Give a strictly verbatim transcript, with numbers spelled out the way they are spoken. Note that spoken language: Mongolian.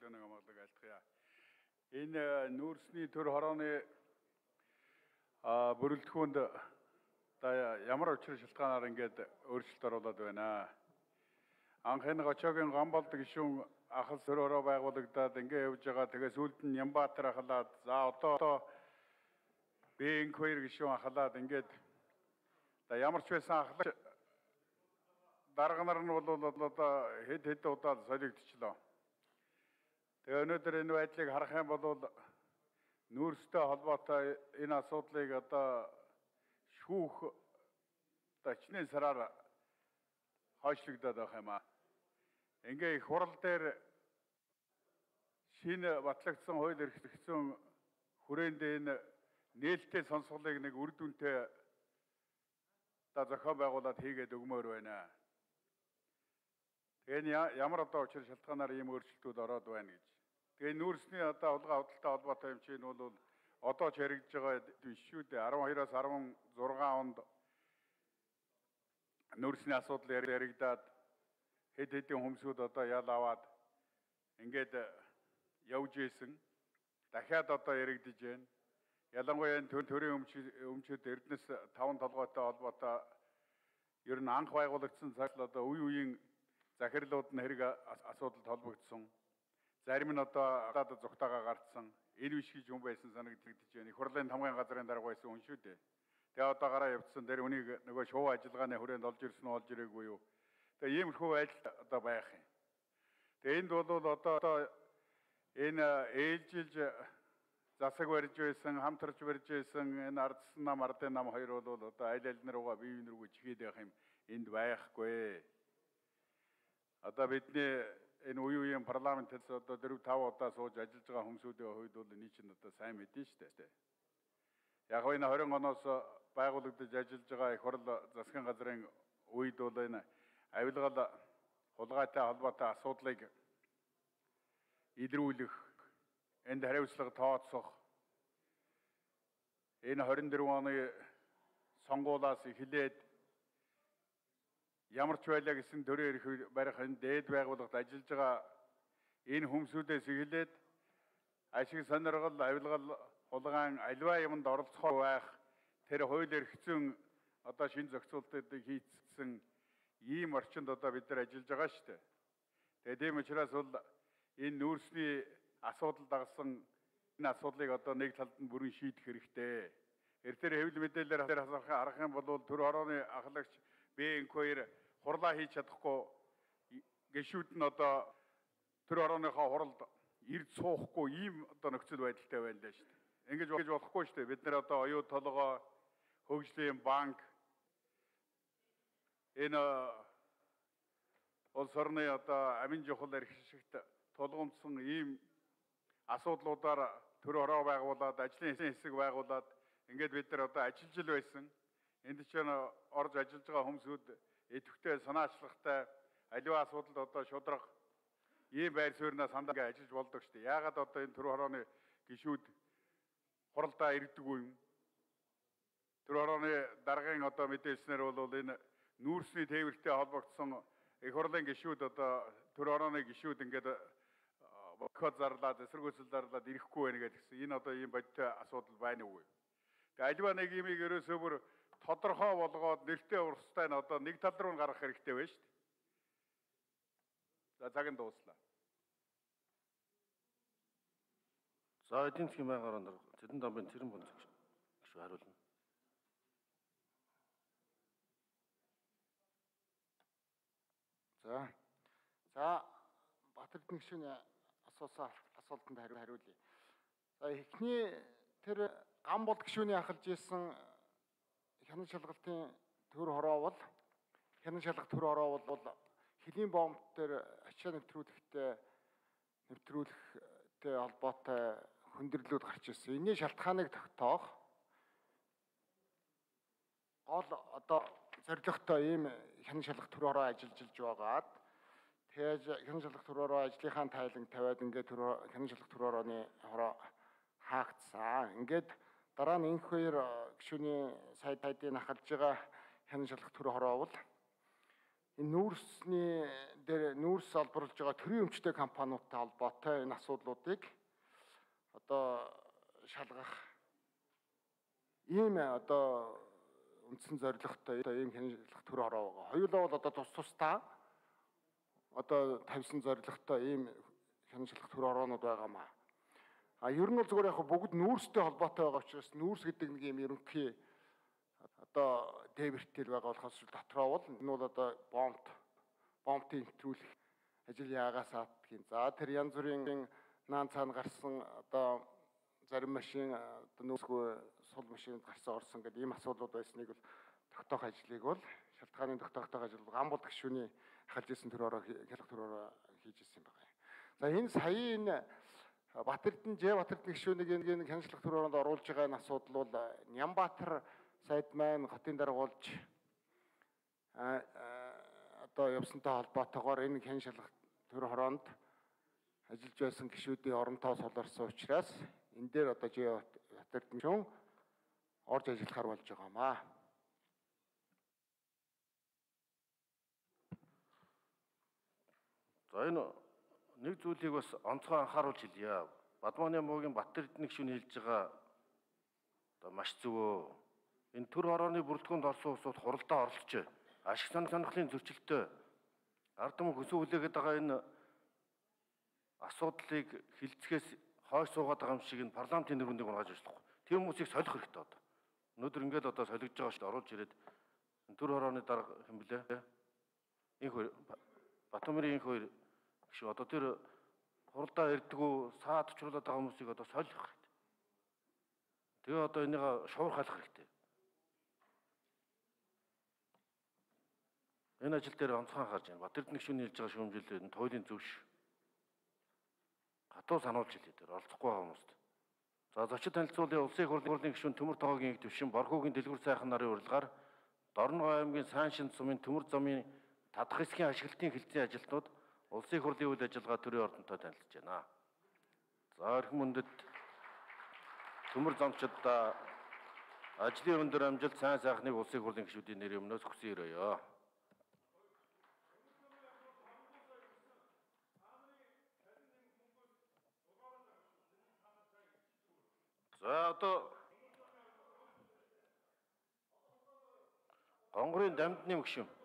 нэг амгалаг альтгая. Энэ нүүрсний төр хорооны бүрэлдэхүүнд ямар учир шалтгаанаар ингээд өөрчлөлт оруулаад байна. Анх энэ Гочоогийн Гамболд гишүүн ахал төр хороо байгуулагдаад ингээд явж байгаа. Тэгээ сүүлд нь Нямбатар ахалаад за одоо Бэн Квер гишүүн ахалаад ингээд ямар ч байсан ахлах дарга нар нь бол одоо хэд хэд удаа солигдчихлоо. Тэгээ өнөөдөр энэ байдлыг харах юм бол нүүрстэй холбоотой энэ асуудлыг одоо шүүх тачны сараар хойшлогдоод байх юм аа. Ингээ их хурал дээр шинэ батлагдсан хууль эрхлэгдсэн хүрээнд энэ нээлттэй сонсголыг нэг үр дүнтэй та зохион байгуулад хийгээд өгмөр байна. Тэгээ ямар одоо учир шалтгаанаар ийм өөрчлөлтүүд ороод байна гэж. Тэгээ нүүрсний одоо хулгай худалдаа холбоотой юм чинь бол одоо ч яригдж байгаа биш шүү дээ. арван хоёроос арван зургаан онд нүүрсний асуудал яригдаад хэд хэдэн хүмүүсүүд одоо ял аваад ингээд явж ийсэн. Дахиад одоо яригдж байна. Ялангуяа энэ төрийн өмчөд Эрдэнэс таван толгойтой холбоотой ер нь анх байгуулагдсан цагт одоо үе үеийн захирлууд нь хэрэг асуудалд холбогдсон. Зарим нь одоо гадаад зүгтаага гартсан. Энэ биш гэж юм байсан санагдагдаж байна. Их хурлын тамгын газрын дарга байсан хүн шүү дээ. Тэгээ одоо гараа явцсан дээр үнийг нөгөө шоу ажиллагааны хүрээнд олж ирсэн нь олж ирээгүй юу. Тэгээ иймэрхүү байдал одоо байх юм. Тэгээ энд бол одоо энэ ээлжилж засаг барьж байсан, хамтарч барьж байсан энэ ардсан нам, ардын нам хоёр бол одоо аль аль наруугаа бие биенээ рүү чигээд байх юм энд байхгүй. Одоо бидний энэ үе үеийн парламентээс одоо дөрөв тав удаа сууж ажиллаж байгаа хүмүүсүүдийн хувьд бол энэ чинь одоо сайн мэдэн шүү дээ. Яг энэ хорин оноос байгуулагдаж ажиллаж байгаа их хурл засгийн газрын үед бол энэ авилгал хулгайтай холбоотой асуудлыг илрүүлэх, энд хариуцлага тооцох, энэ хорин дөрвөн оны сонгуулиас эхлээд ямар ч байлаа гэсэн төрийн эрх барих энэ дээд байгууллагад ажиллаж байгаа энэ хүмүүсүүдээс эхлээд ашиг сониргол, авилгал, хулгайн аливаа юмд оролцох байх тэр хууль эрхцэн одоо шинэ зохицуултуудыг хийцсэн ийм орчинд одоо бид нар ажиллаж байгаа шүү дээ. Тэгээд тийм учраас бол энэ нүүрсний асуудал дагсан энэ асуудлыг одоо нэг талд нь бүрэн шийдэх хэрэгтэй. Эртээр хэвлэл мэдээлэлээр харах юм бол төр хорооны ахлагч Бэн Квер хурлаа хийж чадахгүй гишүүд нь одоо төр хорооныхоо хуралд ирд суухгүй ийм одоо нөхцөл байдалтай байна л шүү дээ. Ингэж болж болохгүй шүү дээ. Бид нэр одоо оюу толгой, хөгжлийн банк энэ улс орны одоо амин чухал эрхшигт тулгамдсан ийм асуудлуудаар төр хороо байгуулад, ажлын хэсэг байгуулад ингээд бид нар одоо ажиллаж л байсан. Энд чинь орж ажиллаж байгаа хүмүүсүүд идэвхтэй санаачлагтай аливаа асуудалд одоо шудраг ийм байр суурьнаас хандаа ажиллаж болдог шүү дээ. Яагаад одоо энэ төр хорооны гишүүд хуралдаа ирдэггүй юм? Төр хорооны даргын одоо мэдээлснээр бол энэ нүүрсний тээвэртэй холбогдсон их хурлын гишүүд одоо төр хорооны гишүүд ингээд бохот зарлаад, эсэргүүцэл зарлаад ирэхгүй байна гэдгсэн. Энэ одоо ийм бодтой асуудал байна уу? Тэгээ аливаа нэг юмыг ерөөсөө бүр тодорхой болгоод нэртэй урстай нь одоо нэг тал руу гаргах хэрэгтэй байна шүү дээ. За цаг нь дууслаа. За эдийн засгийн байнгын орон Цэдэн Домбын Цэрэн Бонцог гишүү хариулна. За. За Батэрдэн гишүүний асуусан асуултанд хариулъя. За эхний тэр Гамболд гишүүний ахалж исэн хянан шалгалтын төр хороо бол хянан шалгалт төр хороо бол хөлийн бомб дээр ачаа нэвтрүүлэхтэй нэвтрүүлэхтэй холбоотой хүндрэлүүд гарч ирсэн. Энэний шалтгааныг тогтоох гол одоо зорилготой ийм хянан шалгалт төр хороо ажиллаж байгаад тэгээд хянан шалгалт төр хороо ажлынхаа тайлан тавиад ингээд хянан шалгалт төр хорооны хороо хаагдсан. Ингээд дараа нь энх хоёр гишүүний сайд тайдыг ахалж байгаа хянан шалгалт төр хороо бол энэ нүүрсний дээр нүүрс олборлож байгаа төрийн өмчтэй компаниудтай холбоотой энэ асуудлуудыг одоо шалгах ийм одоо үндсэн зорилготой ийм хяналт төр ороо байгаа. Хоёулаа бол одоо тус тусдаа одоо тавьсан зорилготой ийм хяналт төр ороонууд байгаамаа. А ер нь бол зүгээр яг бүгд нүүрстэй холбоотой байгаа учраас нүүрс гэдэг нэг юм ерөнхий одоо дээвэртэл байгаа болохоос дотроо бол энэ бол одоо бомб бомбын нэвтрүүлэх ажил яагаас аадгийн. За тэр янз бүрийн наан цаана гарсан одоо зарим машин одоо нүүрсгүй сул машинд гарсан орсон гэдэг ийм асуудлууд байсныг бол тогтоох ажлыг бол шалтгааны тогтоох ажил ган бол гишүүний ахалж исэн төр ороо хялах төр ороо хийж исэн байгаа. За энэ сая энэ Батэрдэн Ж Батэрдэн гишүүнийг энэ хяналт төр ороонд оруулж байгаа энэ асуудал бол Нямбатар сайд маань хотын даргуулж а одоо явсантай холбоотойгоор энэ хяналт төр ороонд ажиллаж байсан гишүүдийн оронтоо суларсан учраас энэ дээр одоо Ж Батэрдэн гишүүн орж ажиллахаар болж байгаамаа. За энэ нэг зүйлийг бас онцгой анхааруулж хэлье. Бадманы муугийн Батэрдэн гишүүн хэлж байгаа одоо маш зөвөө. Энэ төр орооны бүрэлдэхүүнд орсон улсууд хуралдаа оролцож ашиг сонирхлын зөрчилтэй ард түмэн хөсөө хүлээгээд байгаа энэ асуудлыг хилцгээс хойш суугаад байгаа юм шиг энэ парламентын нэрвэндийг унгаж ажиллахгүй. Тийм хүмүүсийг солих хэрэгтэй одоо. Өнөөдөр ингээд одоо солигдож байгаа шүү дээ оруулж ирээд төр орооны дарга хэм блэ? Инх хоёр Батмарын инх хоёр гişүү одоо тэр хуралдаа ирдгүү саад чуулаад байгаа хүмүүсийг одоо солих хэрэгтэй. Тэгээ одоо энийг шуурхайлах хэрэгтэй. Энэ ажил дээр онцгой анхаарч байна. Батэрдэн гишүүний хэлж байгаа шүүмжлэл энэ туйлын зөвш. Хатуу сануулж хэлээ дээр оролцохгүй байгаа хүмүүст. За зочид танилцуулын улсын их хурлын гишүүн Төмөр Тогоогийн их төвшин Борхуугийн дэлгүүр сайхан нарын урилгаар Дорногов аймгийн Сайншин сумын Төмөр замын Тадах хэсгийн ашиглалтын хилцээний ажилтнууд улсын их хурлын үйл ажиллагаа төрийн ордонтой танилцж байна. За эрхэм мөндөд Төмөр замчидаа ажлын өндөр амжилт сайн сайхныг улсын их хурлын гишүүдийн нэрийн өмнөөс хүсэн өрөөё. За одоо Гонгорын Дамдны гишүүн